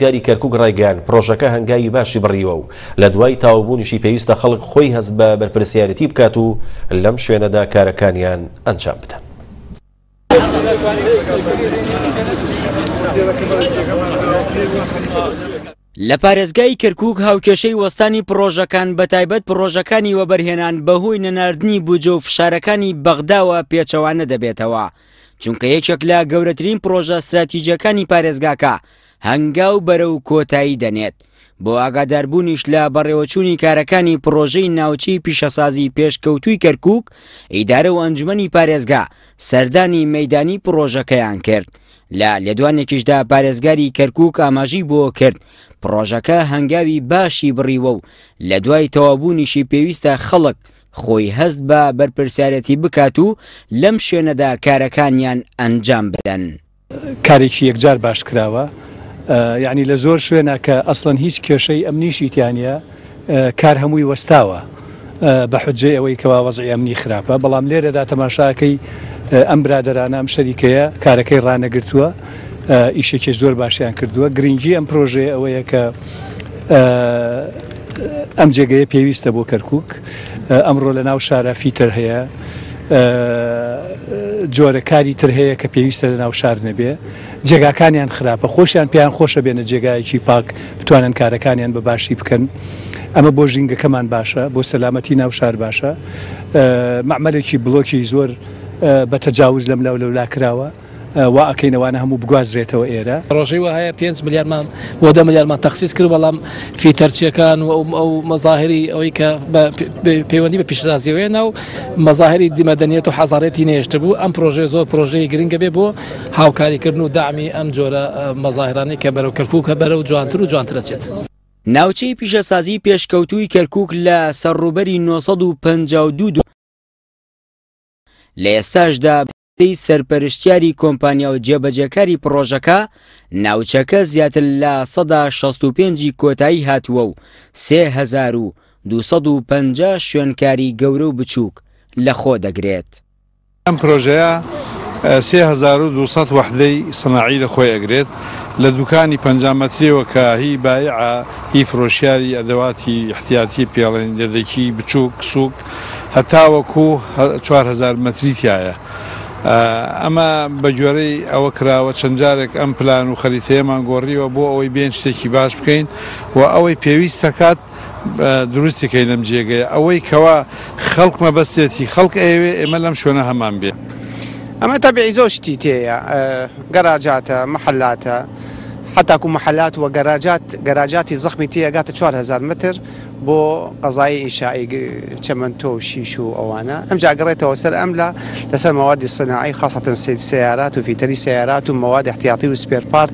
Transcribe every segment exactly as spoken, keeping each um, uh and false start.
پارێزگاری کەرکوک ڕایگەیاند، پرۆژەکە هەنگاوی باشی بڕیوە و لە دوای تەواوبوونیشی پێویستە خەڵک خۆی هەست بە بەرپرسیارێتی بکات و لەم شوێنەدا کارەکانیان ئەنجام بدەن. لە پارێزگای کەرکوک هاوکێشەی وەستانی پرۆژەکان بەتایبەت پرۆژەکانی وەبەرهێنان بەهۆی نەناردنی بودجە و فشارەکانی بەغداوە پێچەوانە دەبێتەوە، چونکە یەکێک لە گەورەترین پرۆژە استراتیژیەکانی پارێزگاکە هەنگاو بەرەو کۆتایی دەنێت. بۆ ئاگاداربوونیش لە بەڕێوەچوونی کارەکانی پرۆژەی ناوچەی پیشەسازی پێشکەوتووی کەرکوک، ئیدارە و ئەنجومەنی پارێزگا سەردانی مەیدانی پرۆژەکەیان کرد. لە لێدوانێکیشدا پارێزگاری کەرکوک ئاماژەی بۆ کرد پرۆژەکە هەنگاوی باشی بڕیوە و لە دوای تەواوبوونیشی پێویستە خەڵک خۆی هەست بە بەرپرسیارەتی بکات و لەم شوێنەدا کارەکانیان ئەنجام بدەن. کارێکی یەکجار باش کراوە، یعنی لە زۆر شوێنە کە ئەسڵەن هیچ کێشەی ئەمنیشی تیانە، کار هەمووی وەستاوە بە حجەی ئەوەی کەوا وەزعی ئەمنی خراپە، بەڵام لێرەدا تەماشاکەی ئەم برادەرانە ئەم شەریکەیە کارەکەی ڕانەگرتووە، ئیشێکی زۆر باشیان کردووە. گرنگی ئەم پرۆژەیە ئەوەیە کە ئەم جێگەیە پێویستە بۆ کەرکوک. ئەمڕۆ لە ناو شارە فیتەر هەیە، جۆرە کاری تر هەیە کە پێویستە لە ناو شار نەبێ، جێگاکانیان خراپە، خۆشیان پێیان خۆشە بێنە جێگایەکی پاک بتوانن کارەکانیان بە باشی بکەن. ئەمە بۆ ژینگەکەمان باشە، بۆ سەلامەتی ناو شار باشە. مەعمەلێکی بلۆکی زۆر بە تەجاوز لەم لاو لەولا کراوە، وا ئەکەینەوانە هەموو بگوازرێتەوە ئێرە. ڕۆژەی وهەیە پێنج ملیارمان بۆ دە ملیارمان تەخسیس کرد، بەڵام فیتەرچیەکان و ئەو مەزاهری ئەوەی کە پەیوەندی بە پیشەسازیەوەیە ناو مەزاهری مەدەنیەت و حەزارەتی نێشتە بوو. ئەم پرۆژەیە زۆر پرۆژەی گرنگە بێ بۆ هاوکاریکردن و دامی ئەم جۆرە مەزاهرانەی کە بەرەو کەرکووکە بەرەو جوانتر و جوانترە چێت. ناوچەی پیشەسازی پێشکەوتووی کەرکوک لە سەرڕووبەری نۆ سەد و پەنجا و دوو لە ئێستاشدا سەرپەرشتیاری کۆمپانیا و جێبەجێکاری پرۆژەکە ناوچەکە زیاتر لە سەدا شەست و پێنجی کۆتایی هاتووە و سێ هەزار و دوو سەد و پەنجا شوێنکاری گەورە و بچووک لەخۆ دەگرێت. ئەم پرۆژەیە سێ هەزار و دوو سەد وەحدەی سەناعی لە خۆی ئەگرێت، لە دوکانی پەنجا مەتریەوە کە هی بایعە، هی فرۆشیاری ئەدەواتی احتیاطی پێڵێن دەدەکی بچووک سوک هەتاوەکو چوار هەزار مەتری تایە. ئەمە بە گوێرەی ئەوە کراوە چەند جارێک ئەم پلان و خەریتەیەمان گۆڕیوە بۆ ئەوەی بێن شتێکی باش بکەین و ئەوەی پێویستەکات دروستیکەین لەم جێگەیە، ئەوەی کەوا خەڵک مەبەستێتی خەڵک ئەیەوێ ئێمە لەم شوێنە هەمان بێ. ئەمە تەبیعی زۆر شتی تێیە، گەراجاتە، محەلاتە، حتاکو محەلات و گەراجات، گەراجاتی زەخمی تێیە گاتە چوار هەزار متر بۆ قەزای ئینشائی چەمەنتۆ و شیش و ئەوانە. ئەمجا گەڕێتەوە سەر ئەملا لەسەر مەوادی سەناعی، خاصەتەن سەیارات و فیتەری سەیارات و مەواد احتیاطی و spare part.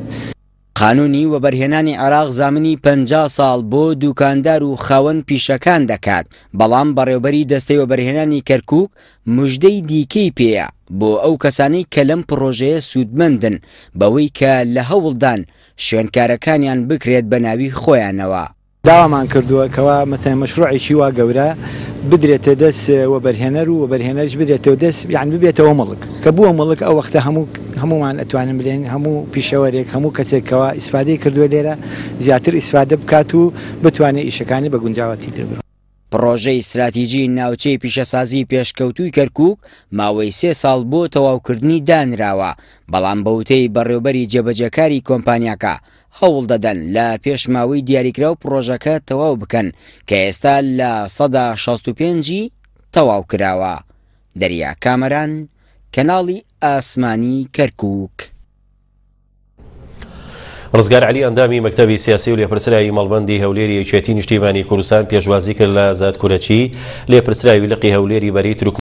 قانونی وەبەرهێنانی عێراق زامنی پەنجا ساڵ بۆ دوکاندار و خاوەن پیشەکان دەکات، بەڵام بەڕێوبەری دەستەی وەبەرهێنانی کەرکوک مژدەی دیکەی پێیە بۆ ئەو کەسانەی کە لەم پرۆژەیە سوودمەندن بەوەی کە لە هەوڵدان شوێنکارەکانیان بکرێت بە ناوی خۆیانەوە. داوامان کردووە کەوا مەسەلەن مەشروعێکی وا گەورە بدرێتە دەست وەبەرهێنەر و وەبەرهێنەرش بدرێتەوە دەست، یان ببێتەوە مڵک. کە بووە مڵک ئەو وەختە هەموو هەمومان ئەتوانن بلێن هەموو پیشەوەرێک هەموو کەسێکەوە ئیسفادەی کردووە لێرە زیاتر ئیسفادە بکات و بتوانێت ئیشەکانی بە گونجاوەتی تر بڕۆ. پرۆژەی استراتیژی ناوچەی پیشەسازی پێشکەوتووی کەرکوک ماوەی سێ ساڵ بۆ تەواوکردنی دانراوە، بەڵام بەوتەی بەڕێوبەری جێبەجێکاری کۆمپانیاکە هەوڵ دەدەن لە پێشماوەی دیاریکراو پرۆژەکە تەواو بکەن کە ئێستا لە سەدا شەست و پێنجی تەواو کراوە. دەریا کامەران، کەناڵی ئاسمانی کەرکوک. ڕزگار عەلی ئەندامی مەکتەبی سیاسی و لێپرسراوی مەڵبەندی هەولێری یەکێتی نیشتیمانی کوردستان پێشوازی کرد لە ئازاد کورەچی لێپرسراوی لقی هەولێری بەرەی تورکمان.